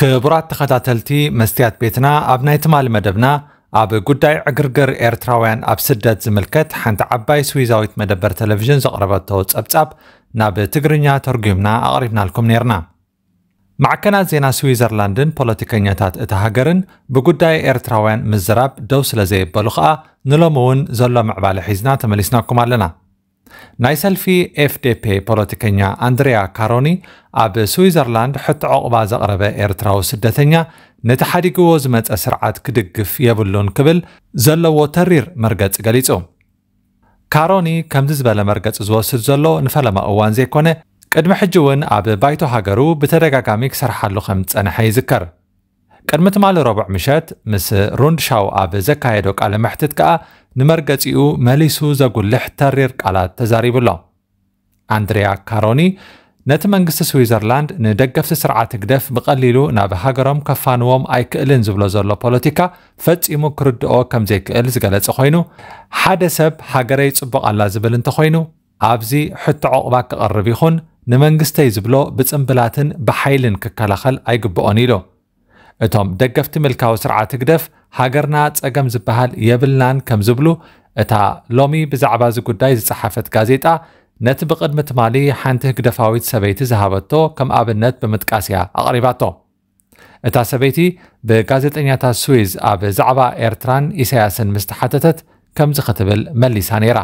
ክቡራት ተኸታተልቲ መስትያት ቤትና፣ ኣብ ናይ ትማሊ መደብና ኣብ ጉዳይ ዕግርግር ኤርትራውያን ኣብ ስደት ዝምልከት ሓንቲ ዓባይ ስዊዛዊት መደበር ቴሌቪዥን ዘቕረበቶ ጸብጻብ ናብ ትግርኛ ተርጒምና ኣቕሪብናልኩም ነይርና። ማዕከናት ዜና ስዊዘርላንድን ፖለቲከኛታት እታ ሃገርን ብጉዳይ ኤርትራውያን ምዝራብ ደው ስለ ዘየበሉ ከኣ፣ ንሎሚ እውን ዘሎ ምዕባለ ሒዝና ተመሊስናኩም ኣለና። ናይ ሰልፊ ኤፍዴፔ ፖለቲከኛ ኣንድሪያ ካሮኒ፣ ኣብ ስዊዘርላንድ ሕቶ ዑቕባ ዘቕረበ ኤርትራዊ ስደተኛ፣ ነቲ ሓዲግዎ ዝመጸ ስርዓት ክድግፍ የብሉን ክብል ዘለዎ ተሪር መርገጺ ገሊጹ። ካሮኒ ከምዚ ዝበለ መርገጺ ዝወስድ ዘሎ ንፈለማ እዋን ዘይኮነ፣ ቅድሚ ሕጂ እውን ኣብ ባይቶ ሃገሩ ብተደጋጋሚ ክሰርሓሉ ከም ዝጸንሐ ይዝከር። ቅድሚ ትማሊ ረቡዕ ምሸት ምስ ሩንድሻው ኣብ ዘካየዶ ቃለ መሕትት ከኣ፣ ንመርገጺኡ መሊሱ ዘጉልሕ ተሪር ቃላት ተዛሪቡ ኣሎ። ኣንድሪያ ካሮኒ፣ ነቲ መንግስቲ ስዊዘርላንድ ንደገፍቲ ስርዓት ህግደፍ ብቐሊሉ ናብ ሃገሮም ከፋንዎም ኣይክእልን ዝብሎ ዘሎ ፖለቲካ ፈጺሙ ክርድኦ ከም ዘይክእል ዝገለጸ ኮይኑ፣ ሓደ ሰብ ሃገረይ ጽቡቕ ኣላ ዝብል እንተኾይኑ፣ ኣብዚ ሕቶ ዑቕባ ክቐርብ ይኹን ንመንግስተይ ዝብሎ ብጽምብላትን ብሓይልን ክከላኸል ኣይግብኦን ኢሉ። እቶም ደገፍቲ ምልካዊ ስርዓት ህግደፍ፣ ሃገርና ጸገም ዝበሃል የብልናን ከም ዝብሉ፣ እታ ሎሚ ብዛዕባ እዚ ጉዳይ ዝጸሓፈት ጋዜጣ፣ ነቲ ብቕድሚ ትማሊ ሓንቲ ህግደፋዊት ሰበይቲ ዝሃበቶ ከም ኣብነት ብምጥቃስ እያ ኣቕሪባቶ። እታ ሰበይቲ ብጋዜጠኛታት ስዊዝ ኣብ ዛዕባ ኤርትራን ኢሳያስን ምስ ተሓተተት፣ ከምዚ ክትብል መሊሳ ነይራ።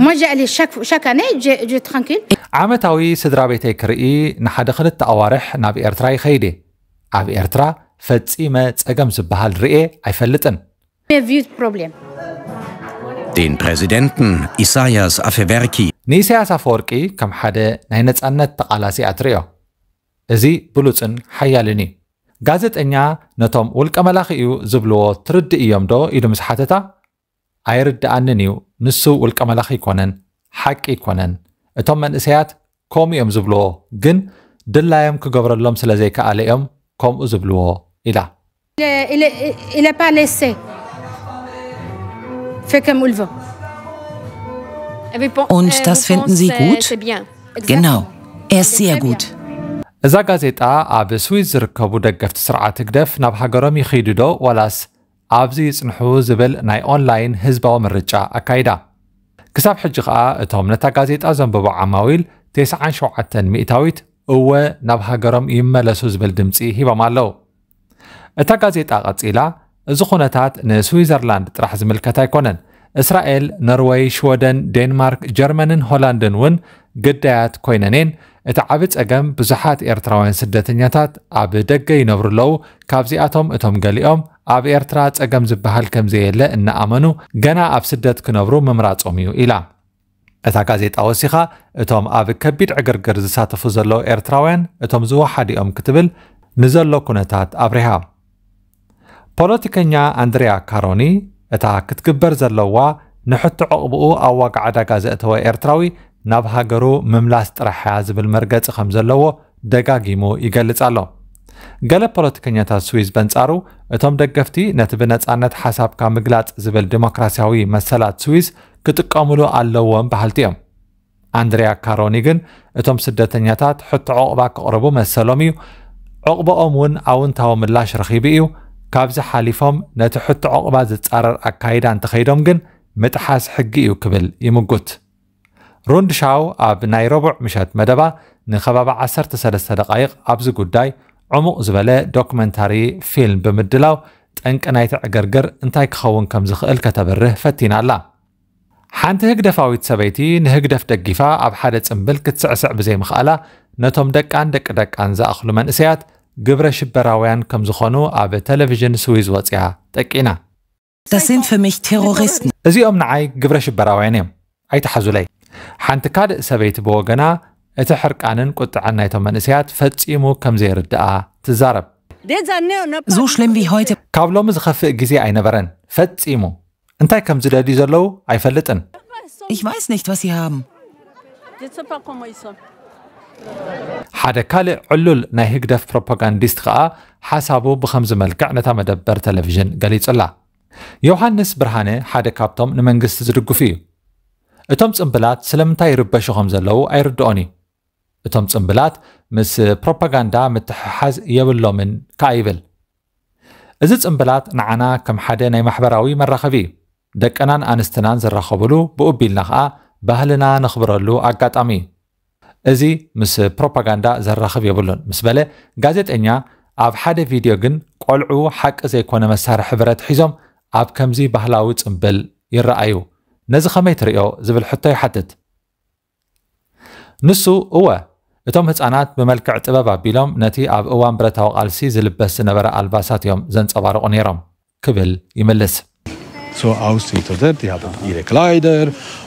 Moi, j'ai allé chaque, chaque année, je, je tranquille. ዓመታዊ ስድራ ቤተይ ክርኢ ንሓደ ክልተ ኣዋርሕ ናብ ኤርትራ ይኸይድ እየ። ኣብ ኤርትራ ፈጺመ ጸገም ዝበሃል ርእየ ኣይፈልጥን። J'ai vu de problème. Den Präsidenten Isaias Afewerki. ንኢሳያስ ኣፈወርቂ ከም ሓደ ናይ ነጻነት ተቓላሲ እያ ትርእዮ። እዚ ብሉጽን ሓያልን እዩ። ጋዜጠኛ ነቶም ውልቀ መላኺ እዩ ዝብልዎ ትርድእ እዮም ዶ ኢሉ ምስ ሓተታ፣ ኣይርድኣንን እዩ፣ ንሱ ውልቀ መላኺ ኣይኮነን፣ ሓቂ ኣይኮነን። እቶም መንእሰያት ከምኡ እዮም ዝብልዎ፣ ግን ድላዮም ክገብረሎም ስለ ዘይከኣለ እዮም ከምኡ ዝብልዎ ኢላ። Il est, il est, il est pas laissé. Fait comme il veut. Und das finden Sie gut? Genau, er ist sehr gut. እዛ ጋዜጣ ኣብ ስዊዝ ዝርከቡ ደገፍቲ ስርዓት ህግደፍ ናብ ሃገሮም ይኸይዱ ዶ ዋላስ ኣብዚ ይጽንሑ ዝብል ናይ ኦንላይን ህዝባዊ ምርጫ ኣካይዳ። ክሳብ ሕጂ ከኣ እቶም ነታ ጋዜጣ ዘንብቡ ዓማዊል ተስዓን ሸውዓተን ሚእታዊት እወ ናብ ሃገሮም ይመለሱ ዝብል ድምጺ ሂቦም ኣለዉ። እታ ጋዜጣ ቀጺላ፣ እዚ ኩነታት ንስዊዘርላንድ ጥራሕ ዝምልከት ኣይኮነን። እስራኤል፣ ኖርወይ፣ ሽወደን፣ ዴንማርክ፣ ጀርመንን ሆላንድን እውን ግዳያት ኮይነን እየን። እቲ ዓቢ ጸገም ብዙሓት ኤርትራውያን ስደተኛታት ኣብ ደገ ይነብሩ ኣለዉ። ካብዚኣቶም እቶም ገሊኦም ኣብ ኤርትራ ጸገም ዝበሃል ከም ዘየለ እናኣመኑ ገና ኣብ ስደት ክነብሩ ምምራጾም እዩ ኢላ። እታ ጋዜጣ ወሲኻ፣ እቶም ኣብ ከቢድ ዕግርግር ዝሳተፉ ዘለዉ ኤርትራውያን እቶም ዝወሓዱ እዮም ክትብል ንዘሎ ኩነታት ኣብሪሃ። ፖለቲከኛ ኣንድሪያ ካሮኒ፣ እታ ክትግበር ዘለዋ ንሕቶ ዕቕብኡ ኣብ ዋጋ ዕዳጋ ዘእተወ ኤርትራዊ ናብ ሃገሩ ምምላስ ጥራሕ እያ ዝብል መርገጺ ከም ዘለዎ ደጋጊሙ ይገልጽ ኣሎ። ገለ ፖለቲከኛታት ስዊዝ በንጻሩ፣ እቶም ደገፍቲ ነቲ ብነጻነት ሓሳብካ ምግላጽ ዝብል ዲሞክራሲያዊ መሰላት ስዊዝ ክጥቀሙሉ ኣለዎም በሃልቲ እዮም። ኣንድሪያ ካሮኒ ግን፣ እቶም ስደተኛታት ሕቶ ዕቑባ ክቕርቡ መሰሎም እዩ፣ ዕቑባኦም እውን ኣውንታዊ ምላሽ ረኺቡ እዩ፣ ካብዚ ሓሊፎም ነቲ ሕቶ ዕቑባ ዝጻረር ኣካይዳ እንተኸይዶም ግን ምጥሓስ ሕጊ እዩ ክብል ይምጉት። ሩንድሻው ኣብ ናይ ረቡዕ ምሸት መደባ ንከባቢ ዓሰርተ ሰለስተ ደቓይቕ ኣብዚ ጉዳይ ዕሙቕ ዝበለ ዶክመንታሪ ፊልም ብምድላው ጠንቂ ናይቲ ዕግርግር እንታይ ክኸውን ከም ዝኽእል ከተብርህ ፈቲና ኣላ። ሓንቲ ህግደፋዊት ሰበይቲ ንህግደፍ ደጊፋ ኣብ ሓደ ጽምብል ክትስዕስዕ ብዘይምኽኣላ ነቶም ደቃን ደቂ ደቃን ዝኣኽሉ መንእሰያት ግብረ ሽበራውያን ከም ዝኾኑ ኣብ ቴሌቪዥን ስዊዝ ወጽያ ጠቂና። Das sind für mich Terroristen. እዚኦም ንዓይ ግብረ ሽበራውያን እዮም፣ ኣይትሓዙለይ። ሓንቲ ካልእ ሰበይቲ ብወገና እቲ ሕርቃንን ቁጥዐን ናይቶም መንእሰያት ፈጺሙ ከም ዘይርድኣ ትዛረብ። So schlimm wie heute. ካብ ሎሚ ዝኸፍእ ግዜ ኣይነበረን ፈጺሙ። እንታይ ከም ዝደልዩ ዘለዉ ኣይፈልጥን። Ich weiß nicht, was sie haben. ሓደ ካልእ ዕሉል ናይ ህግደፍ ፕሮፓጋንዲስት ከኣ ሓሳቡ ብኸምዚ መልክዕ ነታ መደበር ቴሌቪዥን ገሊጹላ። ዮሃንስ ብርሃነ ሓደ ካብቶም ንመንግስቲ ዝድግፉ እዩ። እቶም ጽምብላት ስለምንታይ ይርበሹ ከም ዘለዉ ኣይርድኦን እዩ። እቶም ጽምብላት ምስ ፕሮፓጋንዳ ምትሕሓዝ የብሎምን ከኣ ይብል። እዚ ጽምብላት ንዓና ከም ሓደ ናይ ማሕበራዊ መራኸቢ እዩ። ደቅናን ኣንስትናን ዝራኸብሉ፣ ብኡ ቢልና ኸኣ ባህልና ነኽብረሉ ኣጋጣሚ እዩ። እዚ ምስ ፕሮፓጋንዳ ዘራኽብ የብሉን ምስ በለ፣ ጋዜጠኛ ኣብ ሓደ ቪድዮ ግን ቆልዑ ሓቂ ዘይኮነ መሳርሒ ብረት ሒዞም ኣብ ከምዚ ባህላዊ ጽምብል ይረኣዩ። ነዚ ከመይ ትርእዮ ዝብል ሕቶ ይሓትት። ንሱ፣ እወ፣ እቶም ህጻናት ብመልክዕ ጥበብ ኣቢሎም ነቲ ኣብ እዋን ብረታዊ ቃልሲ ዝልበስ ዝነበረ ኣልባሳት እዮም ዘንጸባርቑ ነይሮም ክብል ይምልስ። So aussieht, oder? Die haben ihre Kleider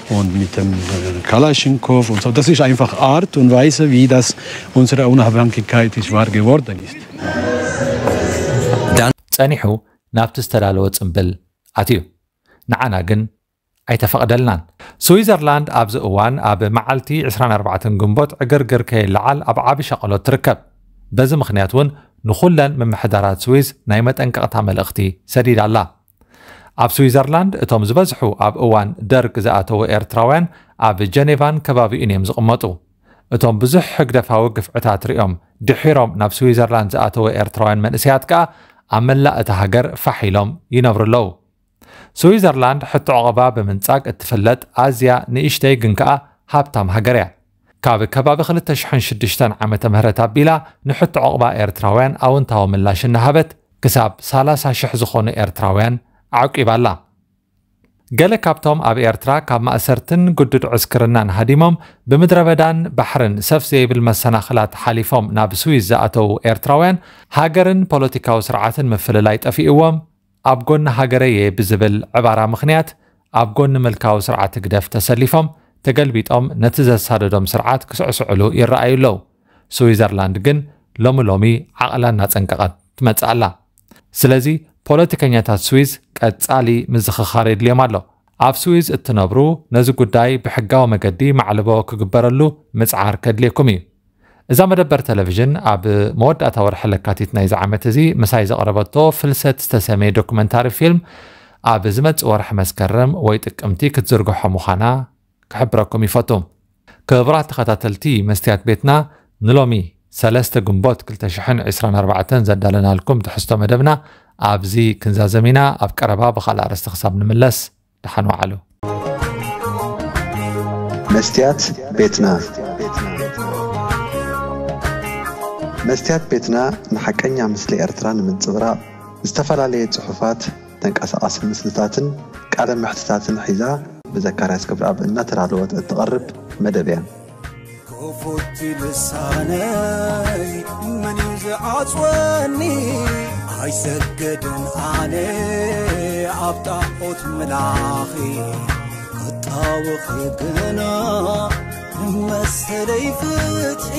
und mit dem äh, Kalaschnikow und so. Das ist einfach Art und Weise, wie das unsere Unabhängigkeit ist wahr geworden ist. ጸኒሑ ናብቲ ዝተዳለወ ጽምብል ኣትዩ። ንዓና ግን ኣይተፈቕደልናን። ስዊዘርላንድ ኣብዚ እዋን ኣብ መዓልቲ ዕስራን ኣርባዕተን ግንቦት ዕግርግር ከይለዓል ኣብ ዓቢ ሻቕሎት ትርከብ። በዚ ምኽንያት እውን ንኹለን ምምሕዳራት ስዊዝ ናይ መጠንቀቕታ መልእኽቲ ሰዲዳ ኣላ። ኣብ ስዊዘርላንድ እቶም ዝበዝሑ ኣብ እዋን ደርግ ዝኣተዉ ኤርትራውያን ኣብ ጀኔቫን ከባቢኡን እዮም ዝቕመጡ። እቶም ብዙሕ ህግደፋዊ ግፍዕታት ሪኦም ድሒሮም ናብ ስዊዘርላንድ ዝኣተዉ ኤርትራውያን መንእሰያት ከኣ ኣብ መላእ እታ ሃገር ፋሕ ኢሎም ይነብሩ ኣለዉ። ስዊዘርላንድ ሕቶ ዕቑባ ብምንጻግ እትፍለጥ ኣዝያ ንእሽተይ ግን ከኣ ሃብታም ሃገር እያ። ካብ ከባቢ ክልተ ሽሕን ሽዱሽተን ዓመተ ምህረት ኣቢላ ንሕቶ ዕቑባ ኤርትራውያን ኣውንታዊ ምላሽ እናሃበት ክሳብ ሰላሳ ሽሕ ዝኾኑ ኤርትራውያን ኣዕቂባ ኣላ። ገለ ካብቶም ኣብ ኤርትራ ካብ ማእሰርትን ግዱድ ዕስክርናን ሃዲሞም ብምድረ በዳን ባሕርን ሰፍ ዘይብል መሰናኽላት ሓሊፎም ናብ ስዊዝ ዝኣተዉ ኤርትራውያን ሃገርን ፖለቲካዊ ስርዓትን ምፍልላይ ጠፊእዎም ኣብ ጎኒ ሃገረይ እየ ብዝብል ዕባራ ምኽንያት ኣብ ጎኒ ምልካዊ ስርዓት ህግደፍ ተሰሊፎም ተገልቢጦም ነቲ ዘሳደዶም ስርዓት ክስዕስዕሉ ይረኣዩ ኣለዉ። ስዊዘርላንድ ግን ሎሚ ሎሚ ዓቕላ እናጸንቀቐት ትመጽእ ኣላ። ስለዚ ፖለቲከኛታት ስዊዝ ቀጻሊ ምዝኽኻር የድልዮም ኣሎ። ኣብ ስዊዝ እትነብሩ ነዚ ጉዳይ ብሕጋዊ መገዲ ማዕልቦ ክግበረሉ ምጽዓር ከድልየኩም እዩ። እዛ መደበር ቴሌቪዥን ኣብ መወዳእታ ወርሒ ለካቲት ናይዚ ዓመት እዚ ምሳይ ዘቕረበቶ ፍልሰት ዝተሰመየ ዶኩመንታሪ ፊልም ኣብ ዝመጽእ ወርሒ መስከረም ወይ ጥቅምቲ ክትዝርግሖ ምዃና ክሕብረኩም ይፈቱ። ክቡራት ተኸታተልቲ መስትያት ቤትና፣ ንሎሚ ሰለስተ ግንቦት ክልተ ሽሕን ዕስራን ኣርባዕተን ዘዳለናልኩም ትሕዝቶ መደብና ኣብዚ ክንዛዘም ኢና። ኣብ ቀረባ ብኻልእ ኣርእስቲ ክሳብ ንምለስ ደሓን ወዓሉ። መስትያት ቤትና። መስትያት ቤትና ንሓቀኛ ምስሊ ኤርትራ ንምንጽብራቕ ዝተፈላለየ ጽሑፋት፣ ተንቀሳቓሲ ምስልታትን ቃለ መሕትታትን ሒዛ ብዘካርያስ ክብረኣብ እናተዳለወት እትቐርብ መደብ እያ። ክፉት ልሳነይ መን እዩ ዝዓጽወኒ? ኣይሰገድን ኣነ ኣብ ጣዖት ምላኺ፣ ክጣወኺ ግና ንመሰለይ ፍትሒ።